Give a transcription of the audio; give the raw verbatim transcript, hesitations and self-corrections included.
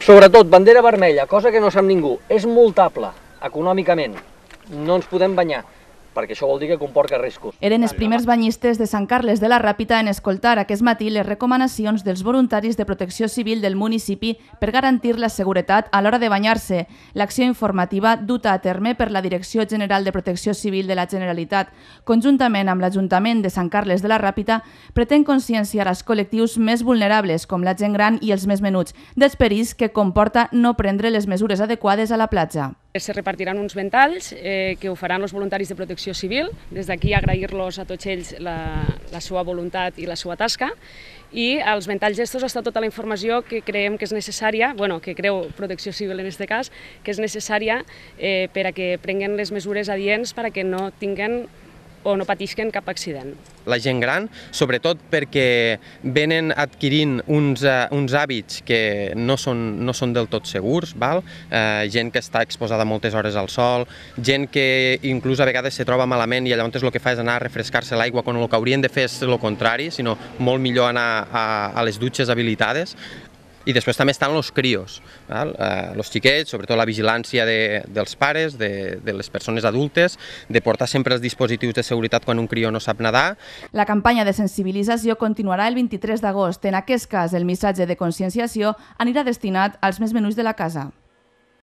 Sobretot, bandera vermella, cosa que no sap ningú, és multable econòmicament. No ens podem banyar, perquè això vol dir que comporta riscos. Eren els primers banyistes de Sant Carles de la Ràpita en escoltar aquest matí les recomanacions dels voluntaris de protecció civil del municipi per garantir la seguretat a l'hora de banyar-se. L'acció informativa duta a terme per la Direcció General de Protecció Civil de la Generalitat, conjuntament amb l'Ajuntament de Sant Carles de la Ràpita, pretén conscienciar els col·lectius més vulnerables, com la gent gran i els més menuts, dels perills que comporta no prendre les mesures adequades a la platja. Se repartiran uns ventalls eh, que ho faran els voluntaris de protecció civil. Des d'aquí agrair-los a tots ells la, la seva voluntat i la seva tasca. I als ventalls estos està tota la informació que creiem que és necessària, bueno, que creu Protecció Civil en aquest cas, que és necessària eh, per a que prenguen les mesures adients per a que no tinguen o no patisquen cap accident. La gent gran, sobretot perquè venen adquirint uns, uh, uns hàbits que no són, no són del tot segurs, val? Uh, gent que està exposada moltes hores al sol, gent que inclús a vegades se troba malament i llavors el que fa és anar a refrescar-se l'aigua quan el que haurien de fer és el contrari, sinó molt millor anar a, a les dutxes habilitades. I després també estan els crios, els xiquets, sobretot la vigilància de, dels pares, de, de les persones adultes, de portar sempre els dispositius de seguretat quan un crió no sap nedar. La campanya de sensibilització continuarà el vint-i-tres d'agost. En aquest cas, el missatge de conscienciació anirà destinat als més menuts de la casa.